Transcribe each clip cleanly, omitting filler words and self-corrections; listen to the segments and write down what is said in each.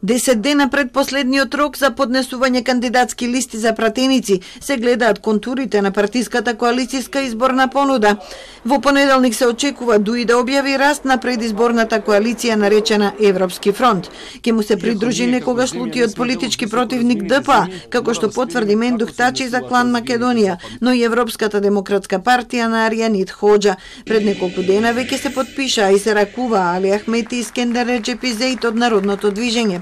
10 дена пред последниот рок за поднесување кандидатски листи за пратеници се гледаат контурите на партиската коалицијска изборна понуда. Во понеделник се очекува ДУИ да објави раст на предизборната коалиција наречена Европски фронт. Ке му се придружи некогаш лутиот политички противник ДПА, како што потврди Мендух Тачи за Клан Македонија, но и Европската демократска партија на Аријанит Хоџа. Пред неколку дена веќе се подпишаа и се ракува Али Ахмети и Скендер Реджепи Зеит од Народното движење.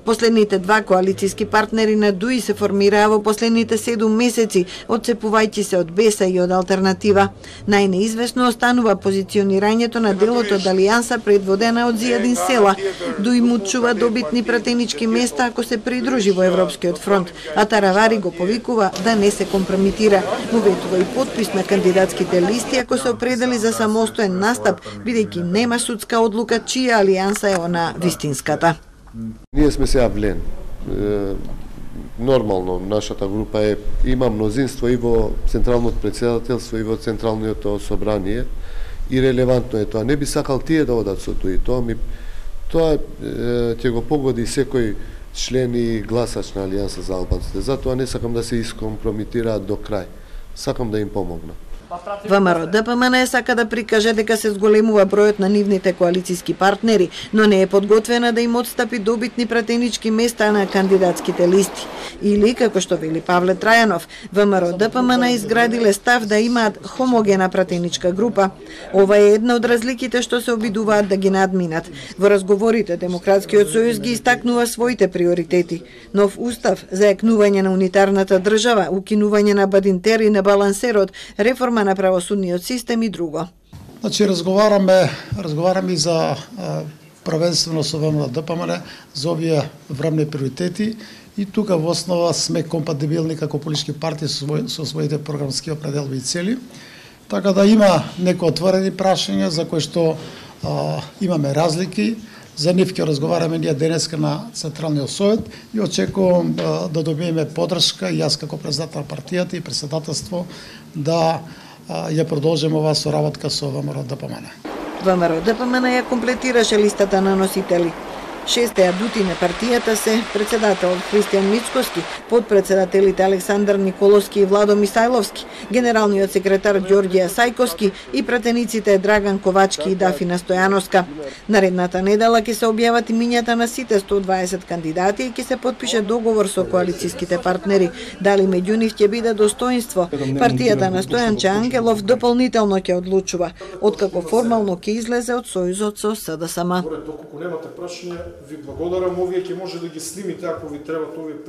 Последните два коалицијски партнери на ДУИ се формираа во последните 7 месеци, одцепувајќи се од БЕСА и од Алтернатива. Најнеизвестно останува позиционирањето на делот од Алијанса предводена од Зијадин Села. ДУИ му чува добитни пратенички места ако се придружи во Европскиот фронт, а Таравари го повикува да не се компромитира. Му ветува и подпис на кандидатските листи ако се определи за самостоен настап, бидејќи нема судска одлука чија алијанса е она вистинската. Ние сме сега влен. Нормално, нашата група има мнозинство и во Централното председателство и во Централното собрание и релевантно е тоа. Не би сакал тие да одат со ДУИ. Тоа ќе го погоди секој член и гласач на Алијанса за албанците. Затоа не сакам да се искомпрометираат до крај. Сакам да им помогна. ВМРО ДПМН сака да прикаже дека се зголемува бројот на нивните коалицијски партнери, но не е подготвена да им отстапи добитни пратенички места на кандидатските листи. Или, како што вели Павле Трајанов, ВМРО ДПМН изградиле став да имаат хомогена пратеничка група. Ова е една од разликите што се обидуваат да ги надминат. Во разговорите Демократскиот сојуз ги истакнува своите приоритети: нов устав, заекнување на унитарната држава, укинување на Бадинтер и на балансерот, реформа на правосудниот систем и друго. Значи разговараме и за правенствено со ВМРО ДПМН за овие времени приоритети и тука во основа сме компатибилни како политички партии со своите програмски определби и цели. Така да има некои отворени прашања за кои што имаме разлики. За нив ќе разговараме ние денеска на Централниот совет и очекувам да добиеме поддршка и јас како председател на партијата и председателство да ја продолжиме оваа соработка со ВМРО ДПМН. ВМРО ДПМН ја комплетираше листата на носители. 6 адути на партијата се председателот Христијан Мицкоски, подпредседателите Александар Николовски и Владо Мисајловски, генералниот секретар Ѓорѓија Сајковски и пратениците Драган Ковачки и Дафина Стојановска. Наредната недела ќе се објават имињата на сите 120 кандидати и ќе се подпише договор со коалицијските партнери. Дали меѓу нив ќе биде достоинство, партијата на Стојанче Ангелов дополнително ќе одлучува, откако формално ќе излезе од сојузот со СДСМ. Ви благодарам, овие ќе може да ги снимите ако ви требат овие